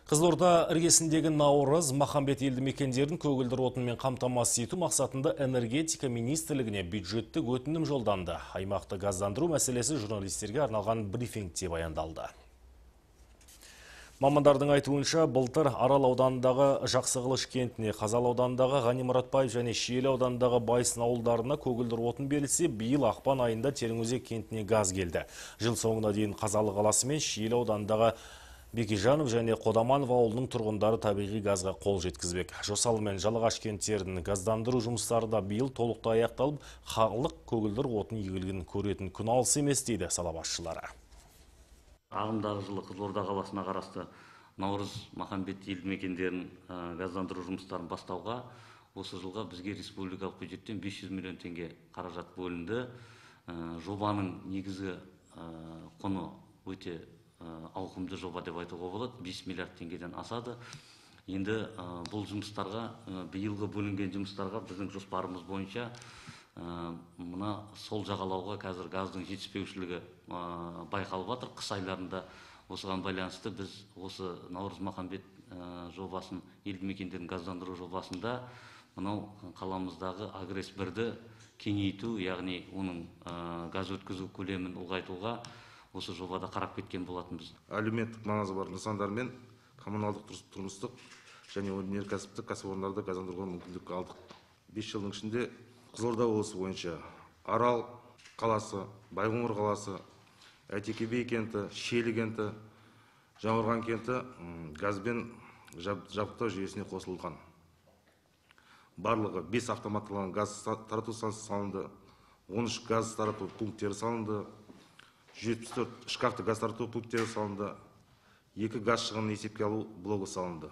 Қызылорда іргесіндегі Наурыз, Махамбет елді мекендерін көгілдір отынмен қамтамасыз ету мақсатында энергетика министрлігіне бюджеттік өтінім жолданды. Аймақты газдандыру мәселесі журналистерге арналған брифингте баяндалды. Мамандардың айтуынша, былтыр Арал ауданындағы Жақсықылыш кентіне, Қазал ауданындағы Ғани Мұратбаев және Шиелі ауданындағы Байсын ауылдарына көгілдір отын берілсе, биыл ақпан айында Тереңөзек кентіне газ келді. Жыл соңына дейін Қазалы қаласы мен Шиелі ауданындағы Бекежанов және Қодаманов ауылының тұрғындары табиғи газға қол жеткізбек. Жосалы мен Жалағаш кенттерін газдандыру жұмыстары да биыл толықтай аяқталып, халық көгілдір отын игілігін көретін күн алыс емес дейді сала басшылары. Ағымдағы жылы Қызылорда қаласына қарасты Наурыз, Махамбет елді мекендерін газдандыру жұмыстарын бастауға осы жылға бізге республикалық бюджеттен 500 миллион теңге қаражат бөлінді. Жобаның негізгі құны өте ауқымды жоба деп айтуға болады, 5 миллиард теңгеден асады. Енді бұл жұмыстарға, биылғы бөлінген жұмыстарға біздің жоспарымыз бойынша мына сол жағалауға қазір газдың жетіспеушілігі байқалып жатыр. Қыс айларында осыған байланысты біз осы Наурыз Махамбет жобасын, елді мекендерін газдандыру жобасында мынау қаламыздағы Агресс 1-ді кеңейту, яғни оның газ өткізу көлемін ұлғайтуға осы жобада қарап кеткен болатынбыз. Әлеуметтік маңызы бар нысандар мен коммуналдық тұрмыстық және өнеркәсіптік кәсіпорындарды газдандыруға мүмкіндік алдық. 5 жылдың ішінде Қызылорда облысы бойынша Арал қаласы, Байқоңыр қаласы, Әйтеке би кенті, Шиелі кенті, Жаңғырған кенті газбен жабдықтау жүйесіне қосылған. Барлығы 5 автоматталған газ тарату станциясы салынды, 13 газ тарату пункттері салынды, 74 шкафты газ тарату пункттері салынды, 2 газ шығынын есепке алу блогы салынды.